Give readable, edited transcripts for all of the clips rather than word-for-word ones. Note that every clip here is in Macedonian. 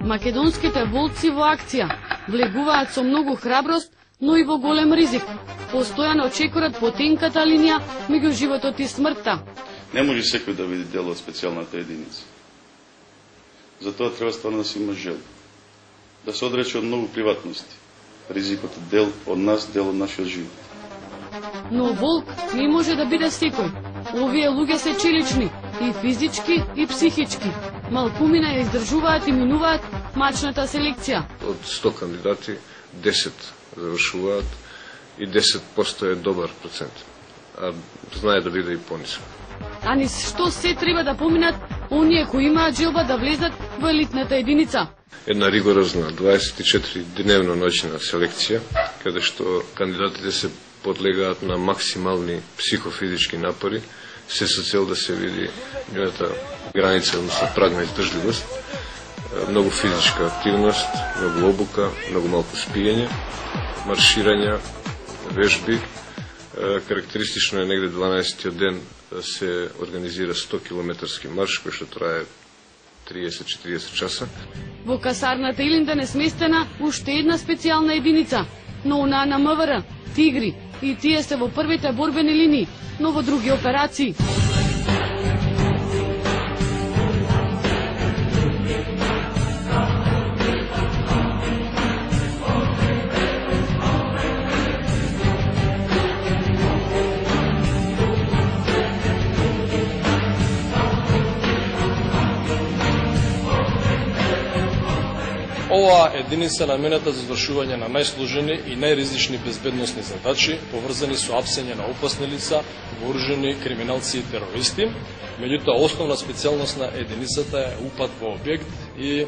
Македонските волци во акција влегуваат со многу храброст, но и во голем ризик. Постојано чекорат потенката линија меѓу животот и смртта. Не може секој да види дел од специјалната единица. Затоа треба стварно да се има жел. Да се одрече од многу приватности. Ризикот е дел од нас, дел од нашиот живот. Но волк не може да биде секој. Овие луѓе се челични, и физички, и психички. Малкумина ја издржуваат и минуваат мачната селекција. Од 100 кандидати, 10 завршуваат и 10% е добар процент. А знае да биде и понисок. А низ што се треба да поминат оние кои имаат желба да влезат во елитната единица? Една ригорозна 24-дневна ноќна селекција, каде што кандидатите се подлегаат на максимални психофизички напори, се со цел да се види нивната граница, односно праг на издржливост, многу физичка активност, многу обука, многу малку спиење, марширања, вежби. Карактеристично е негде 12-тиот ден се организира 100 километарски марш, кој што трае 30-40 часа. Во касарната Илинден е сместена уште една специјална единица, но она на МВР, Тигри, и тие се во првите борбени линии, но во други операции. Оваа единица намената за извршување на најсложени и најризични безбедносни задачи, поврзани со апсење на опасни лица, вооружени криминалци и терористи. Меѓутоа, основна специјалност на единицата е упад во објект и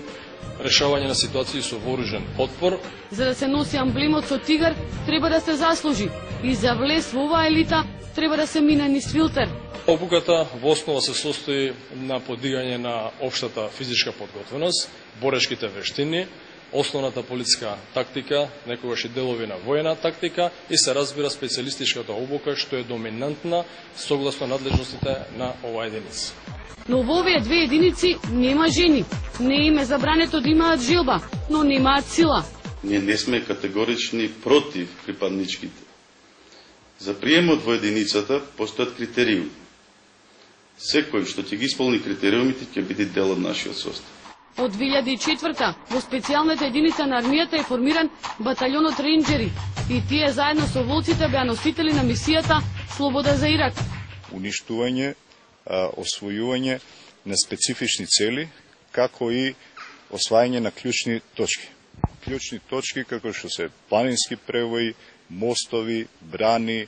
решавање на ситуации со вооружен отпор. За да се носи амблемот со тигар, треба да се заслужи. И за влез во оваа елита, треба да се мине низ филтер. Обуката во основа се состои на подигање на општата физичка подготвеност, борешките вештини, основната полициска тактика, некогаш и делови на воена тактика и се разбира специјалистичката обука, што е доминантна согласно надлежностите на оваа единица. Но во овие две единици нема жени. Не им е забрането да имаат жилба, но немаат сила. Ние не сме категорични против припадничките. За приемот во единицата постојат критериуми. Секој што ќе ги исполни критериумите ќе биде дел од нашиот состав. Од 2004 во специјалната единица на армијата е формиран баталјонот рейнџери и тие заедно со волците беа носители на мисијата Слобода за Ирак. Уништување, освојување на специфични цели, како и освајање на клучни точки. Клучни точки како што се планински превои, мостови, брани,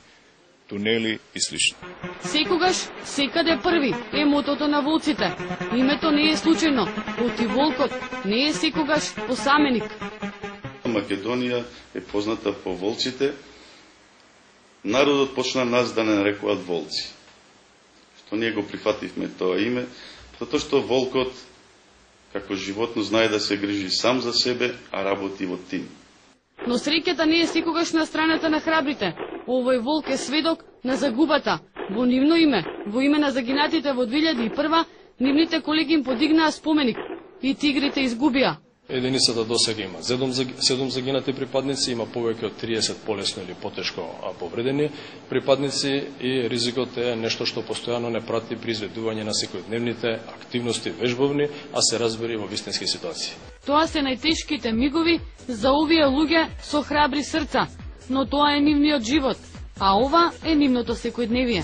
тунели и слично. Секогаш, секаде први е мотото на волците. Името не е случајно, оти волкот не е секогаш посаменик. Македонија е позната по волците. Народот почна нас да не нарекуваат волци. Што ние го прифативме тоа име, затоа што волкот, како животно, знае да се грижи сам за себе, а работи во тим. Но среќата не е секогаш на страната на храбрите. Овој волк е сведок на загубата. Во нивно име, во име на загинатите во 2001, нивните колеги им подигнаа споменик и тигрите изгубија. Единицата досега има 7 загинати припадници, има повеќе од 30 полесно или потешко повредени припадници и ризикот е нешто што постојано не прати при изведување на секојдневните активности вежбовни, а се разбери во вистински ситуации. Тоа се најтешките мигови за овие луѓе со храбри срца, но тоа е нивниот живот, а ова е нивното секојдневие.